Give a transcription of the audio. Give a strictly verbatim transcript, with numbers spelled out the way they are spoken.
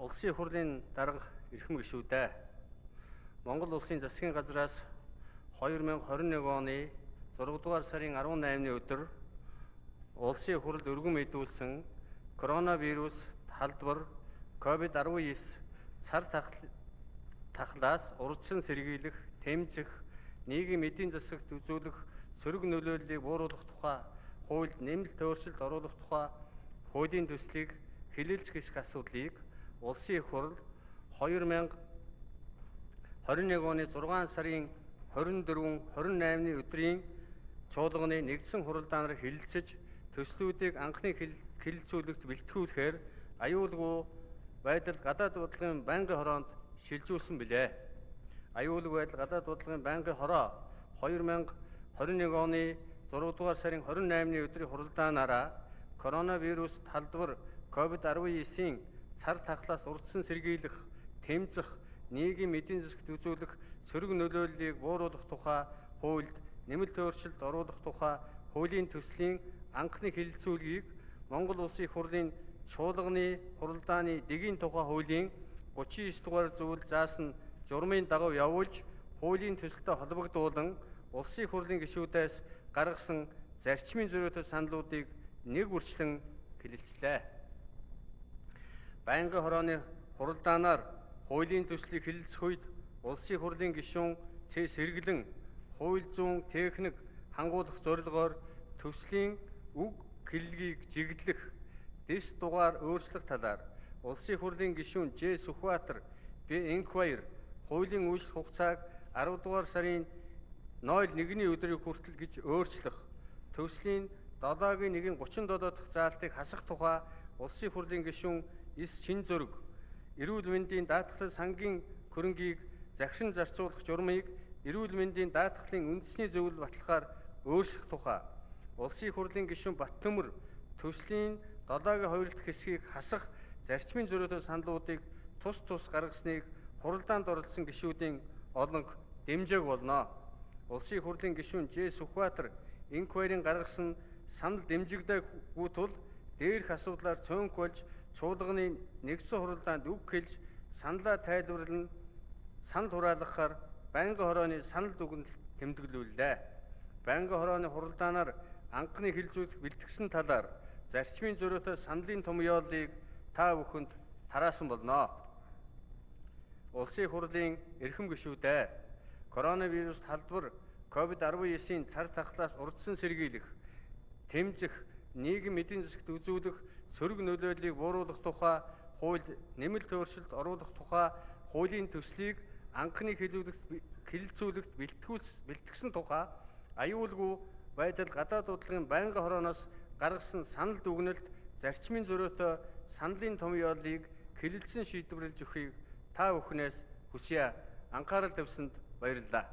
Улсын их хурлын дарга эрхэм гишүүдээ Монгол улсын засгийн газраас хоёр мянга хорин нэг оны зургаадугаар дугаар сарын арван наймны өдөр улсын их хурлд өргөн мэдүүлсэн коронавирус халдвар ковид арван девять цар тахлаас урьдчилан сэргийлэх, тэмцэх, нийгмийн эдийн засагт үзүүлэх сөрөг нөлөөллийг бууруулах тухай хуульд нэмэлт өөрчлөлт оруулах тухай хуулийн төслийг хэлэлцэх гэх асуудлыг улсын их хурл хоёр мянга хорин нэг оны зургаан сарын хорин дөрвөн хорин наймны өдрийн чуулганы нэгдсэн хуралдаанаар хэлэлцэж төслүүдийг анхны хэлэлцүүлэгт бэлтгүүлэхээр аюулгүй байдал гадаад бодлогын байнгын хороонд шилжүүлсэн билээ. Аюулгүй байдал гадаад бодлогын байнгын хороо хоёр мянга хорин нэг оны зургаадугаар дугаар сарын хорин наймны өдрийн хуралдаанаараа коронавирус халдвар ковид арван девять-ийн цар тахлаас урьдчилан сэргийлэх, тэмцэх, нийгмийн эдийн засагт үзүүлэх сөрөг нөлөөллийг бууруулах тухай хуульд нэмэлт өөрчлөлт оруулах тухай хуулийн төслийн анхны хэлэлцүүлгийг Монгол Улсын их хурлын чуулганы хуралдааны дэгийн тухай хуулийн гучин девять дугаар зүйл заасан журмын дагуу явуулж хуулийн төсөлтөд холбогдуулан Улсын их хурлын гишүүдээс гаргасан зарчмын зөрүүтэй саналуудыг нэг үрчлэн хэлэлцлээ. Байнгын хорооны хуралдаанаар хуулийн төслийг хэлэлцэх үед Улсын их хурлын гишүүн цэс сэргэлэн хууль зүйн техник хангуулах зорилгоор төслийн үг хэллэгийг жиглэх, дэс дугаар өөрчлөх талаар Улсын их хурлын гишүүн Ж Сүхбаатар Б Энхбаяр хуулийн үйлчлэх хугацааг арав дугаар сарын ноль нэгний өдрийг хүртэл гэж өөрчлөх, төслийн долоогийн нэгэн гучин долоо дахь заалтыг хасах тухай Улсын их хурлын гишүүн С Шин зөрөг, эрүүл мэндийн даатгалын сангийн хөрөнгийг захиран зарцуулах журмыг эрүүл мэндийн даатгалын үндэсний зөвлөл баталгаар өөрчлөх тухай Улсын их хурлын гишүүн Баттөмөр төслийн долоогийн хоёр дахь хэсгийг хасах зарчмын зөрүүтэй саналуудыг тус тус гаргасныг хуралдаанд оролцсон гишүүдийн олонх дэмжээг болно. Улсын их хурлын гишүүн Ж Сүхбаатар Энхбаярын гаргасан санал дэмжигдээгүй тул дээрх асуудлаар цөөнх болж чуулганы нэгдсэн хуралдаанд үг хэлж саналаа тайлбарлан санал хураалгахаар байнгын хорооны санал дүгнэлт тэмдэглүүллээ. Байнгын хорооны хуралдаанаар анхны хэлэлцүүлэх бэлтгэсэн талаар зарчмын зөрүүтэй саналын том яолыг та бүхэнд тараасан болно. Улсын их хурлын эрхэм гишүүдээ коронавирус халдвар ковид арван девять-ийн цар тахлаас урьдчилан сэргийлэх, тэмцэх, нийгмийн эдийн засагт үзүүлэх сөрөг нөлөөллийг бууруулах тухай хуульд нэмэлт өөрчлөлт оруулах тухай хуулийн төслийг анхны хэлэлцүүлэгт бэлтгэсэн тухай аюулгүй байдал гадаад бодлогын байнгын хорооноос гаргасан санал дүгнэлт зарчмын зөрүүтэй саналын том яолыг хэлэлцэн шийдвэрлэж өгөхийг та бүхнээс хүсье. Анхаарал тавьсанд баярлалаа.